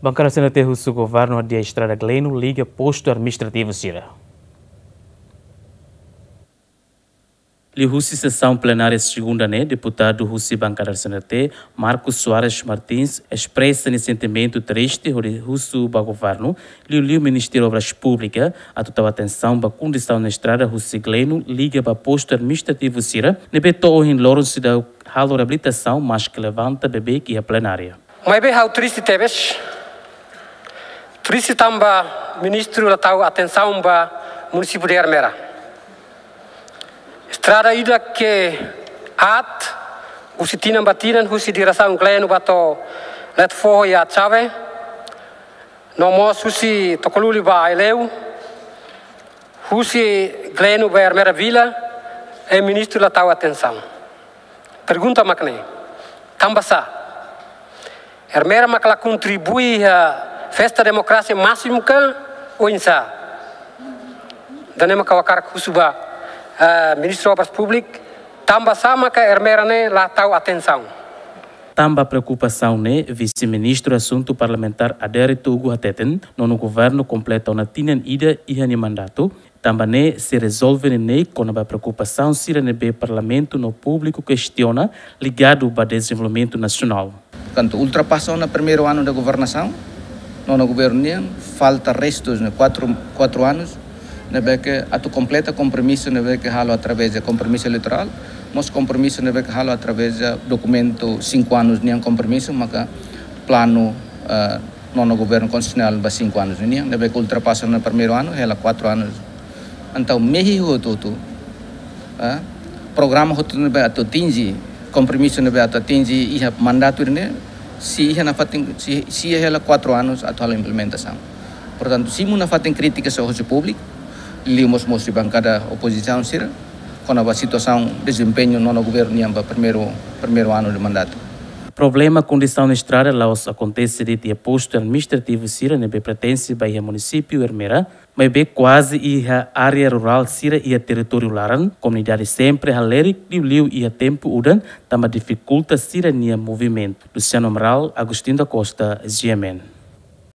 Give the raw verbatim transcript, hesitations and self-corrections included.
Bankada C N T husu governu hadi'a estrada Gleno liga postu administrativu sira. Liuhusi sesaun plenária segunda ne'e, deputadu husi bankada C N T, Marcos Soares Martins, espresa nia sentimentu triste hodi husu ba governu, liuliu Ministériu Obras Públikas, atu tau atensaun ba kondisaun estrada husi Gleno liga ba postu administrativu sira, ne'ebé to'o ohin loron seidauk halo reabilitasaun, maske levanta beibeik iha plenária. Maibé ha'u triste tebes. Triste tanba ministru la tau atensaun ba munisípiu de Ermera. Estrada ida ke aat, husi tinan ba tinan, husi diresaun Gleno ba to'o Letefoho iha Atxave, no mós husi Tokoluli ba Aileu, husi Gleno ba Ermera Vila, i ministru la tau atensaun. Pergunta mak ne'e, tanba sá? Ermera mak la kontribui iha festa demokrasia másimu ka oinsá? Ida-ne'e mak ha'u hakarak husu ba, eh, Ministru Obras Públikas, tanba sá mak Ermera ne'e la tau atensaun? Tanba preokupasaun ne'e, Vise-Ministru Asuntu Parlamentár Adérito Hugo hateten, nonu governu kompleta ona tinan ida iha nia mandatu, tanba ne'e sei rezolve neineik kona-ba preokupasaun sira ne'ebé parlamentu no públiku kestiona ligadu ba dezenvolvimentu nasionál. Portantu, ultrapasa ona primeiru anu de governasaun, nonu governu nian, falta restus ne'e kuatru, kuatru anus, ne'ebé ke atu kompleta kompromisu ne'ebé ke halo através de kompromisu eleitorál, mós kompromisu ne'ebé ke halo através de dokumentu sinku anus nian kompromisu, maka planu, eh, nonu governu konstitusionál ba sinku anus nian, ne'ebé ke ultrapasa ona primeiru anu, hela kuatru anus. Entaun, mehi hotu-hotu, eh, programa hotu ne'ebé atu atinje, kompromisu ne'ebé atu atinje iha mandatu ne'e, sei iha nafatin, sei, sei hela kuatru anus atu halo implementasaun. Portantu, simu nafatin krítika sira hosi públiku, liuliu mós husi bankada opozisaun sira, kona-ba situasaun dezempeñu nonu governu nian ba primeiru, primeiru anu de mandatu. Problema kondisaun estrada la'ós akontese de'it iha postu administrativu sira ne'ebé pertense ba iha munisípiu Ermera, maibé kuaze iha área rurál sira iha territóriu laran, komunidade sempre halerik liuliu iha tempu udan, tanba difikulta sira-nia movimentu. Luciano Amaral, Agostinho da Costa, G M N.